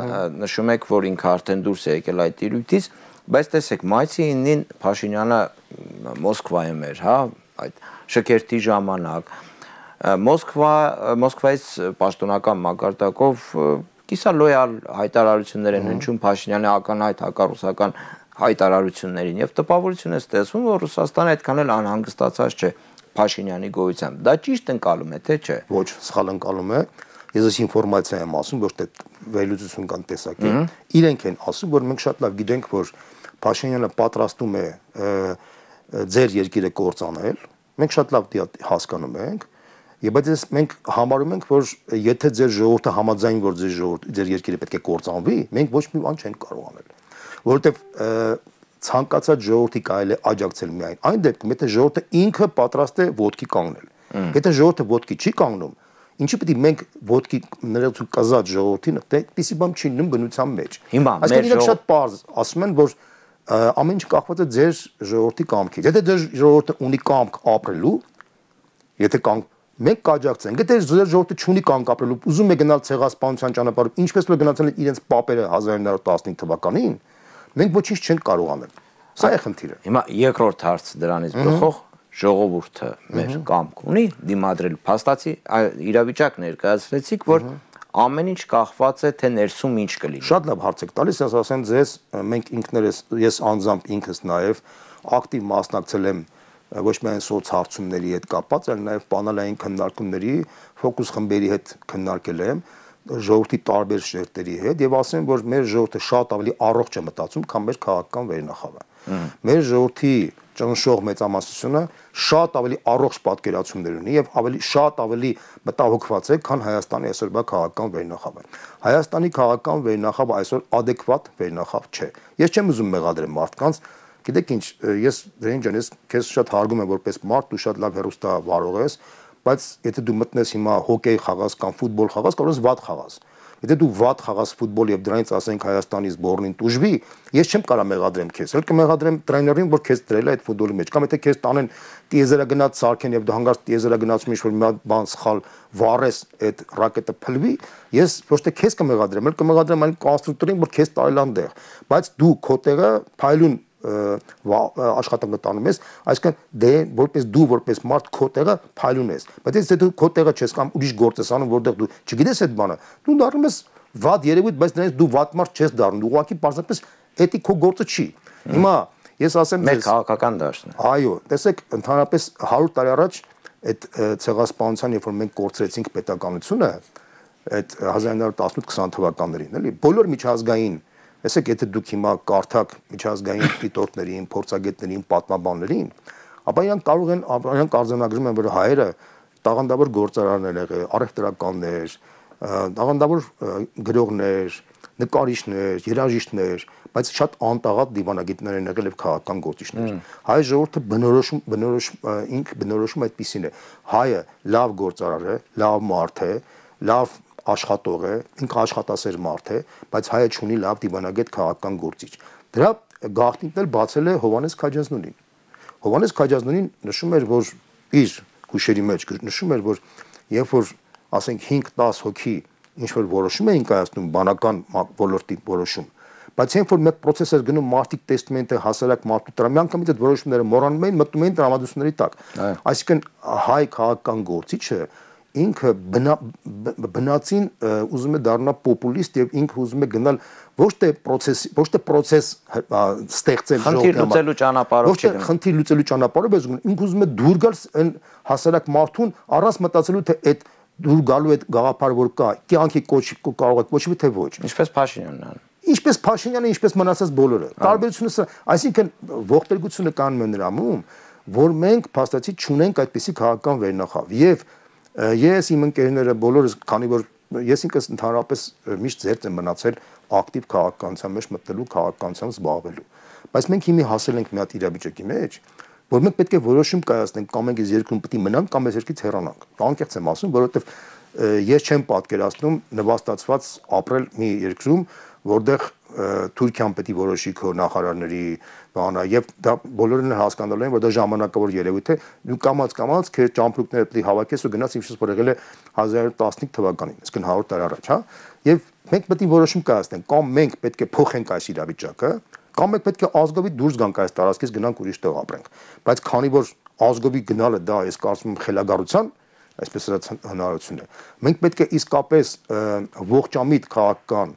նշում եք, որ ինքը արդեն դուրս է եկել այդ տիրույթից, բայց տեսեք, մայիսի 9-ին Փաշինյանը Մոսկվայում էր, հա, այդ շքերթի ժամանակ։ Մոսկվայից պաշտոնական մակարդակով կիսալոյալ հայտարարություններ են հնչում Փաշինյանի ակնհայտ հակառուսական հայտարարություններին եւ տպավորություն է ստեղծվում, որ Ռուսաստանը այդքան էլ անհանգստացած չէ Փաշինյանի գոյությամբ։ Դա ճիշտ ընկալում է, թե չէ։ Ոչ, սխալ ընկալում է։ Ես այս ինֆորմացիա եմ ասում, ոչ թե վերլուծություն կան տեսակի։ Իրենք են ասում, որ մենք շատ լավ գիտենք, որ Փաշինյանը պատրաստում է ձեր երկիրը կործանել։ Մենք շատ լավ հասկանում ենք։ Եվ բայց մենք համարում ենք, որ եթե ձեր ժողովուրդը համաձայն որ ձեր երկիրը պետք է կործանվի, մենք ոչ մի բան չենք կարող անել, որովհետև ցանկացած ժողովրդի կարելի է աջակցել միայն այն դեպքում, եթե ժողովուրդը ինքը պատրաստ է ոտքի կանգնել։ Եթե ժողովուրդը ոտքի չի կանգնում, ինչի պետք է մենք ոտքի ներեցու կազած ժողովրդին, այդպիսի բան չի լինում բնության մեջ։ Այսինքն իրենք շատ պարզ ասում են, որ ամեն ինչ կախված է ձեր ժողովրդի կամքից։ Եթե ձեր ժողովուրդը ունի կամք ապրելու, եթե մենք կաջակցենք, եթե ձեր ժողովուրդը չունի կամք ապրելու, ուզում է գնալ ցեղասպանության ճանապարհով, ինչպես որ գնացել են իրենց պապերը 1915 թվականին, մենք ոչինչ չենք կարող անել։ Սա է խնդիրը։ Հիմա երկրորդ հարց դրանից բխող ժողովուրդը մեր կամք ունի դիմադրել փաստացի իրավիճակ ներկայացրեցիք, որ ամեն ինչ կախված է թե ներսում ինչ կլինի։ Շատ լավ հարց եք տալիս, ես ասեմ ձեզ, մենք ինքներս, ես անձամբ ինքս նաև ակտիվ մասնակցել եմ ոչ միայն սոցհարցումների հետ կապված, այլ նաև պանելային քննարկումների, ֆոկուս խմբերի հետ քննարկել եմ ժողովրդի տարբեր շերտերի հետ եւ ասեմ, որ մեր ժողովուրդը շատ ավելի առողջ է մտածում, քան մեր քաղաքական վերնախավը։ Մեր ժողովրդի ճնշող մեծամասնությունը շատ ավելի առողջ պատկերացումներ ունի եւ շատ ավելի մտահոգված է, քան Հայաստանի այսօրվա քաղաքական վերնախավը։ Հայաստանի քաղաքական վերնախավը այսօր adekvat վերնախավ չէ։ Ես չեմ ուզում մեղադրել մարդկանց, Գիտեք ինչ, ես դրին ջան, ես քեզ շատ հարգում եմ որպես մարդ, դու շատ լավ հեռուստա վարող ես, բայց եթե դու մտնես հիմա հոկեյ խաղաս կամ ֆուտբոլ խաղաս, կարող ես վատ խաղաս։ Եթե դու վատ խաղաս ֆուտբոլ եւ դրանից ասենք Հայաստանի սբորնին տուժվի, ես չեմ կարող մեղադրեմ քեզ։ Էլ կմեղադրեմ տրեյներին, որ քեզ դրել է այդ ֆուտբոլի մեջ։ Կամ եթե քեզ տանեն տիեզերագնաց սարքեն եւ դու հանգարց տիեզերագնացում ինչ-որ մի բան սխալ վառես, այդ ռակետը փլվի, ես ոչ թե քեզ կմեղադրեմ, էլ կմեղադրեմ այն կոնստրուկտորին, որ քեզ տարել անդեղ։ Բայց դու քո տեղը փայլուն աշխատանքը տանում ես, այսինքն դե որպես դու որպես մարդ քո տեղը փայլուն ես։ Բայց եթե դու քո տեղը չես կամ ուրիշ գործ ես անում, որտեղ դու չգիտես այդ բանը, դու դառնում ես վատ երևույթ, բայց դրանից դու վատ մարդ չես դառնում, դու ուղղակի պարզապես էդի քո գործը չի։ Հիմա ես ասեմ մեր քաղաքական դաշտն է։ Այո, տեսեք, ընդհանրապես 100 տարի առաջ այդ ցեղասպանության, երբ որ մենք կորցրեցինք պետականությունը, այդ 1918-20 թվականներին, էլի, բոլոր միջազգային Տեսեք, եթե դուք հիմա կարդաք միջազգային դիտորդներին, փորձագետներին, պատմաբաններին, ապա իրանք արձանագրում են, որ հայերը տաղանդավոր գործարարներ են եղել, առևտրականներ, տաղանդավոր գրողներ, նկարիչներ, երաժիշտներ, բայց շատ անտաղատ դիվանագետներ են եղել եւ քաղաքական գործիչներ։ Հայ ժողովուրդը բնորոշում այդպիսին է։ Հայը լավ գործարար է, լավ մարդ է, լավ աշխատող է, ինքը աշխատասեր մարդ է, բայց հայը չունի լավ դիվանագետ քաղաքական գործիչ։ Դրա գաղտնիքն էլ բացել է Հովհաննես Քաջազնունին։ Հովհաննես Քաջազնունին նշում էր, որ իր հուշերի մեջ նշում էր, որ երբ որ ասենք 5-10 հոգի ինչ որ որոշում էին կայացնում բանական ոլորտի որոշում, բայց երբ որ մեկ process էր գնում մարդիկ տեսնում են թե հասարակ մարդու դրա միանգամից այդ որոշումները մոռանում էին, մտնում էին տրամադրությունների տակ։ Այսինքն հայ քաղաքական գործիչը ինքը բնածին ուզում է դառնալ պոպուլիստ եւ ինքը ուզում է գնալ ոչ թե process ստեղծել խնդիր լուծելու ճանապարհով չէ, խնդիր լուծելու ճանապարհով է ինքը ուզում է դուր գալ այն հասարակ մարդուն առանց մտածելու թե այդ դուր գալու այդ գաղափարը որ կա կյանքի կարող է կոչվի թե ոչ ինչպես Փաշինյանն ան ինչպես Փաշինյանը ինչպես մնացած բոլորը տարբերությունը այսինքն ողբերգությունը կանում է նրանում որ մենք փաստացի չունենք այդպիսի քաղաքական վերնախավ եւ ես իմ ընկերները բոլորս քանի որ ես ինքս ընդհանրապես միշտ ձերծ եմ մնացել ակտիվ քաղաքականության մեջ մտնելու քաղաքականությամբ զբաղվելու բայց մենք հիմի հասել ենք մի հատ իրավիճակի մեջ որ մենք պետք է որոշում կայացնենք կամ մենք այս երկրում պետք է մնանք կամ այս երկրից հեռանանք անկեղծ եմ ասում որովհետեւ ես չեմ պատկերացնում նվաստացված ապրել մի երկրում որտեղ Թուրքիան պետք է որոշի քո նախարարների բանը եւ դա բոլորն հասկանալու են որ դա ժամանակավոր երևույթ է դու կամած քեզ ճամփրուկները պետք է հավաքես ու գնաս ինչպես որ եղել է 1915 թվականին այսինքն 100 տարի առաջ հա եւ մենք պետք է որոշում կայացնենք կամ մենք պետք է փոխենք այս իրավիճակը կամ մենք պետք է ազգովի դուրս գանք այս տարածքից գնանք ուրիշ տեղ ապրենք բայց քանի որ ազգովի գնալը դա ես կարծում եմ խելագարության այսպես ասած հնարավորություն է մենք պետք է իսկապես ողջամիտ քաղաքական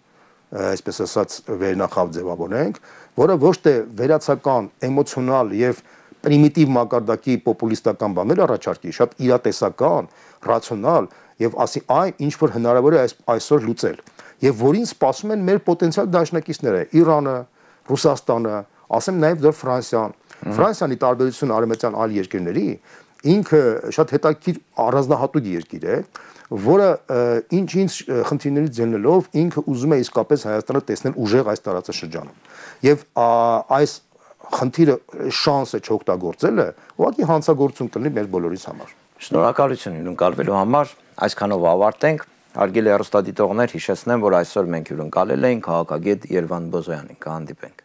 այսպես ասած վերնախավ ձևավորենք, որը ոչ թե վերացական, էմոցիոնալ եւ պրիմիտիվ մակարդակի պոպուլիստական բաներ առաջարկի, շատ իրատեսական, ռացիոնալ եւ ասի այն ինչ որ հնարավոր է այսօր լուծել եւ որին սպասում են մեր պոտենցիալ դաշնակիցները Իրանը, Ռուսաստանը, ասեմ նաեւ դեռ Ֆրանսիանի տարբերություն արևմտյան այլ երկրների ինքը շատ հետաքրքիր առանձնահատուկ երկիր է որը ինչ խնդիրներից ելնելով ինքը ուզում է իսկապես Հայաստանը տեսնել ուժեղ այս տարածաշրջանում եւ այս խնդիրը շանսը չօգտագործելը ուղղակի հանցագործություն կլինի մեր բոլորիս համար Շնորհակալություն հյուրընկալվելու համար այսքանով ավարտենք հարգելի հեռուստադիտողներ հիշեցնեմ որ այսօր մենք հյուրընկալել ենք քաղաքագետ Երվանդ Բոզոյանին կհանդիպենք